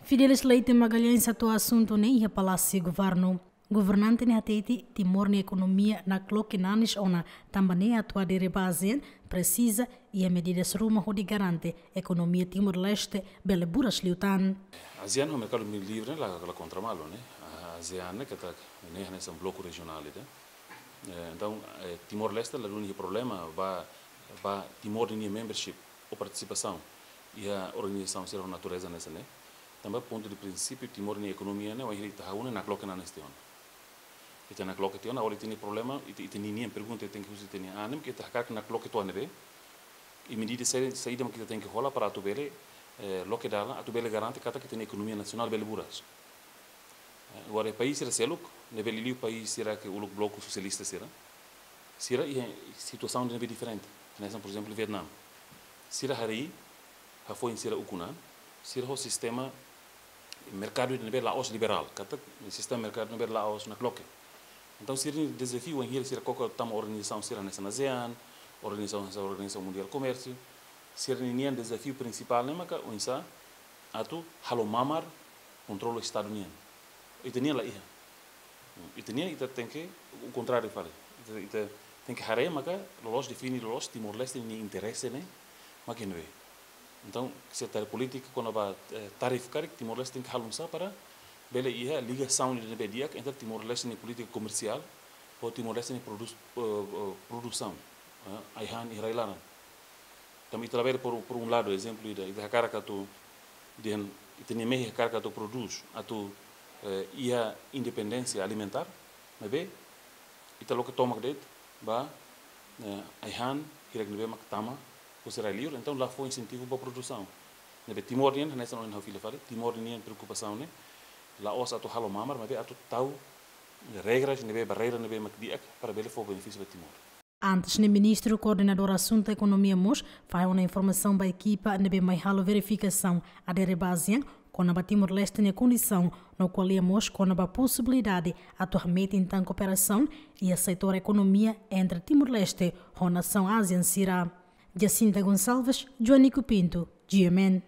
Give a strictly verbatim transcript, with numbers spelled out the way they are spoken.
Fidelis Leite Magalhães hato'o asuntu ne'e iha Palásiu Governu. Governante ne'e hatete Timor nia ekonomia nakloke nanis ona, tanba ne'e atu adere ba ASEAN presiza iha medidas ruma hodi garante ekonomia Timor-Leste bele buras liután. ASEAN ho merkadu livre la, la kontra malu, ne'e. ASEAN ne'e katak ne'e hanesan bloku rejionál ida. Eh, entaun, eh, Timor-Leste la duni problema ba, ba Timor nia membership ou partisipasaun iha organizasaun sira natureza hanesan ne'e. Tanba pontu de prinsípiu Timor nia ekonomia ne'e, wainhira ita hahú ne'e nakloke nanis tiha ona. Ita nakloke tiha ona, agora ita-nia problema, ita, ita-nia pergunta tenke husi ita-nia anima, ke ita hakarak nakloke to'o ne'ebé. I medida saida, saida mak ita tenke hola para atu bele, eh, loke dalan, atu bele garante katak ita-nia ekonomia nasionál bele buras. Eh, agora país sira seluk, ne'ebé liuliu país sira ke uluk bloku sosialista sira, sira iha situasaun ne'ebé diferente. Hanesan, por ezemplu, Vietname. Sira harii hafoin sira ukun an, sira ho sistema merkadu ne'ebé la'ós liberál, katak sistema merkadu ne'ebé la'ós nakloke. Entaun, sira-nia dezafiu wainhira sira koko tama organizasaun sira hanesan ASEAN, organizasaun, Organizasaun Mundiál Komérsiu, sira-nia dezafiu prinsipál ne'e maka oinsá atu halo mamar kontrolu Estadu nian. Ita-nian la iha. Ita-nian ita tenke o kontráriu fali. Ita, ita tenke haree maka loloos define loloos Timor-Leste nia interese ne'e mak iha ne'ebé. Entaun, se tarif polítika kona-ba, eh, tarif karik, Timor-Leste tenke halo oinsá para bele iha ligasaun ne'ebé di'ak entre Timor-Leste nia polítika komersiál ho Timor-Leste nia produs-, eh, eh, produsaun, eh, ai-han iha rai-laran. Tanba ita labele, por, por un lado, ezemplu ida, ita hakarak atu, dehan, ita-nia mehi hakarak atu prodús, atu, eh, iha independénsia alimentár, maibé ita loke tomak de'it ba, eh, ai-han hirak ne'ebé mak tama husi rai-liur, entaun la fó insentivu ba produsaun. Ne'ebé Timor nian, hanesan ohin ha'u fila fali, Timor nian preokupasaun ne'e la'ós atu halo mamar, maibé atu tau regras ne'ebé, barreira ne'ebé mak di'ak para bele fó benefísiu ba Timor. Antes ne'e, Ministru Koordenadór Asuntu Ekonomia mós fahe ona informasaun ba ekipa ne'ebé mai halo verifikasaun adere ba ASEAN kona-ba Timor-Leste nia kondisaun, no ko'alia mós kona-ba posibilidade atu hametin tan kooperasaun iha setór ekonomia entre Timor-Leste ho nasaun ASEAN sira. Jacinta Gonçalves, Joanico Pinto, G M N.